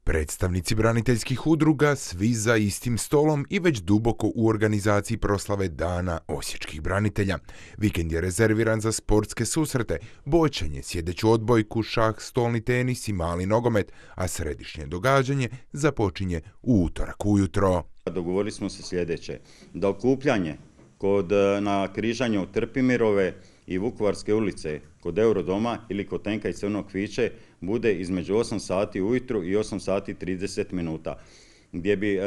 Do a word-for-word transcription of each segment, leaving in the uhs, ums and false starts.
Predstavnici braniteljskih udruga svi za istim stolom i već duboko u organizaciji proslave Dana osječkih branitelja. Vikend je rezerviran za sportske susrete, boćanje, sjedeću odbojku, šah, stolni tenis i mali nogomet, a središnje događanje započinje u utorak ujutro. Dogovorili smo se sljedeće, da okupljanje kod, na križanju Trpimirove i Vukovarske ulice kod Eurodoma ili kod Tenka i Crvenog kviće bude između osam sati ujutru i osam sati i trideset minuta, gdje bi e,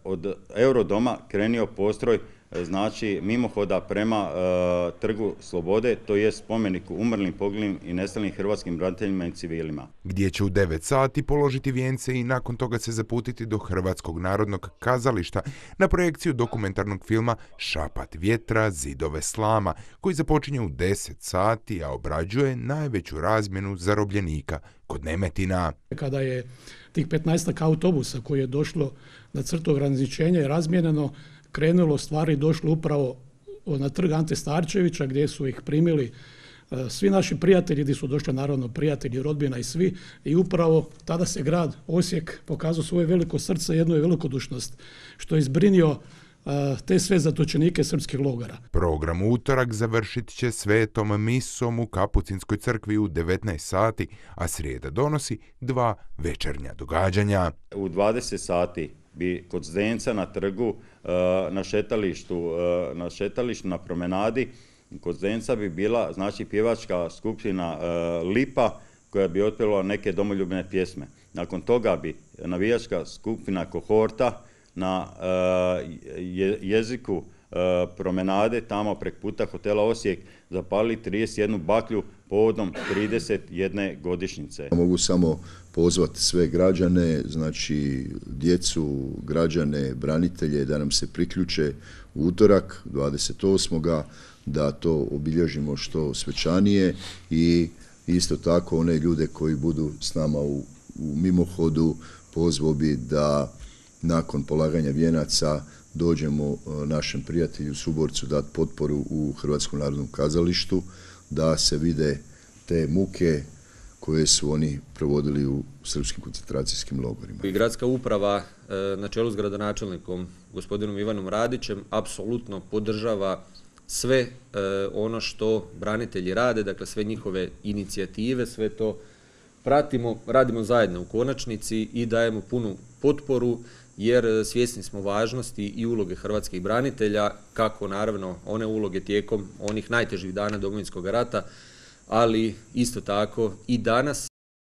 od Eurodoma krenio postroj znači mimohoda prema e, Trgu Slobode, to je spomeniku umrlim, poginulim i nestalim hrvatskim braniteljima i civilima. Gdje će u devet sati položiti vijence i nakon toga se zaputiti do Hrvatskog narodnog kazališta na projekciju dokumentarnog filma Šapat vjetra, zidove slama, koji započinje u deset sati, a obrađuje najveću razmjenu zarobljenika kod Nemetina. Kada je tih petnaestak autobusa koji je došlo na crtu ograničenja i razmijenjeno, krenulo stvari, došlo upravo na trg Ante Starčevića gdje su ih primili svi naši prijatelji, gdje su došli naravno prijatelji, rodbina i svi, i upravo tada se grad Osijek pokazao svoje veliko srce, jednu je velikodušnost, što je izbrinio te sve zatočenike srpskih logora. Program u utorak završit će svetom misom u Kapucinskoj crkvi u devetnaest sati, a srijeda donosi dva večernja događanja. U dvadeset sati bi kod Zdenca na trgu, na šetalištu, na šetalištu, na promenadi, kod Zdenca bi bila znači pjevačka skupina Lipa koja bi otpjevala neke domoljubne pjesme. Nakon toga bi navijačka skupina Kohorta na jeziku promenade tamo prek puta hotela Osijek zapali trideset jednu baklju povodom trideset jedne godišnjice. Mogu samo pozvati sve građane, znači djecu, građane, branitelje da nam se priključe u utorak dvadeset osmog da to obilježimo što svečanije i isto tako one ljude koji budu s nama u, u mimohodu pozvao bi da nakon polaganja vijenaca dođemo našem prijatelju suborcu dati potporu u Hrvatskom narodnom kazalištu, da se vide te muke koje su oni provodili u srpskim koncentracijskim logorima. I gradska uprava na čelu s gradonačelnikom gospodinom Ivanom Radićem apsolutno podržava sve ono što branitelji rade, dakle sve njihove inicijative, sve to pratimo, radimo zajedno u konačnici i dajemo punu potporu, jer svjesni smo važnosti i uloge hrvatskih branitelja, kako naravno one uloge tijekom onih najtežih dana Domovinskog rata, ali isto tako i danas